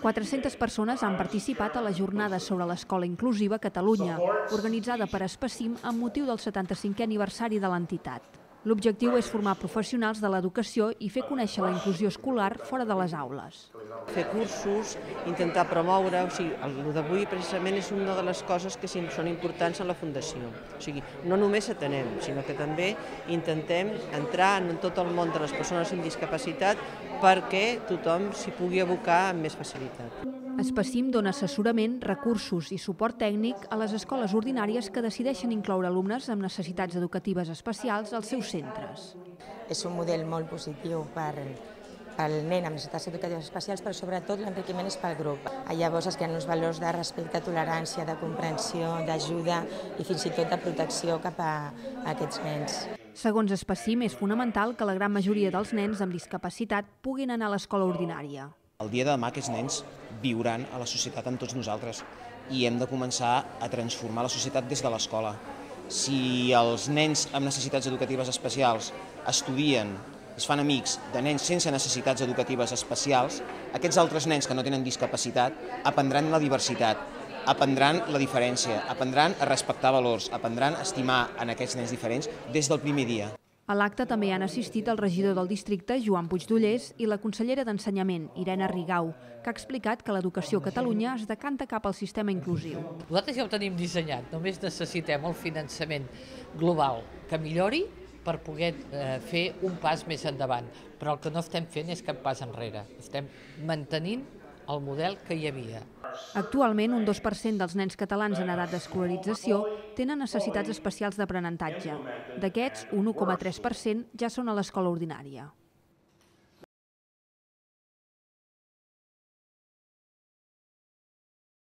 400 persones han participat a la jornada sobre l'escola inclusiva a Catalunya, organitzada per Espacim amb motiu del 75è aniversari de l'entitat. L'objectiu és formar professionals de l'educació i fer conèixer la inclusió escolar fora de les aules. Fer cursos, intentar promoure, el d'avui precisament és una de les coses que són importants en la Fundació. O sigui, no només atenem, sinó que també intentem entrar en tot el món de les persones amb discapacitat perquè tothom s'hi pugui abocar amb més facilitat. Espacim dona assessorament, recursos i suport tècnic a les escoles ordinàries que decideixen incloure alumnes amb necessitats educatives especials als seus centres. És un model molt positiu pel nen amb necessitats educatives especials, però sobretot l'enriquiment és pel grup. Llavors es creen uns valors de respecte, tolerància, de comprensió, d'ajuda i fins i tot de protecció cap a aquests nens. Segons Espacim, és fonamental que la gran majoria dels nens amb discapacitat puguin anar a l'escola ordinària. El dia de demà aquests nens viuran a la societat amb tots nosaltres i hem de començar a transformar la societat des de l'escola. Si els nens amb necessitats educatives especials estudien, es fan amics de nens sense necessitats educatives especials, aquests altres nens que no tenen discapacitat aprendran la diversitat, aprendran la diferència, aprendran a respectar valors, aprendran a estimar en aquests nens diferents des del primer dia. A l'acte també han assistit el regidor del districte, Joan Puigdollers, i la consellera d'Ensenyament, Irene Rigau, que ha explicat que l'educació a Catalunya es decanta cap al sistema inclusiu. Nosaltres ja ho tenim dissenyat, només necessitem el finançament global que millori per poder fer un pas més endavant. Però el que no estem fent és cap pas enrere, estem mantenint el model que hi havia. Actualment, un 2% dels nens catalans en edat d'escolarització tenen necessitats especials d'aprenentatge. D'aquests, un 1,3% ja són a l'escola ordinària.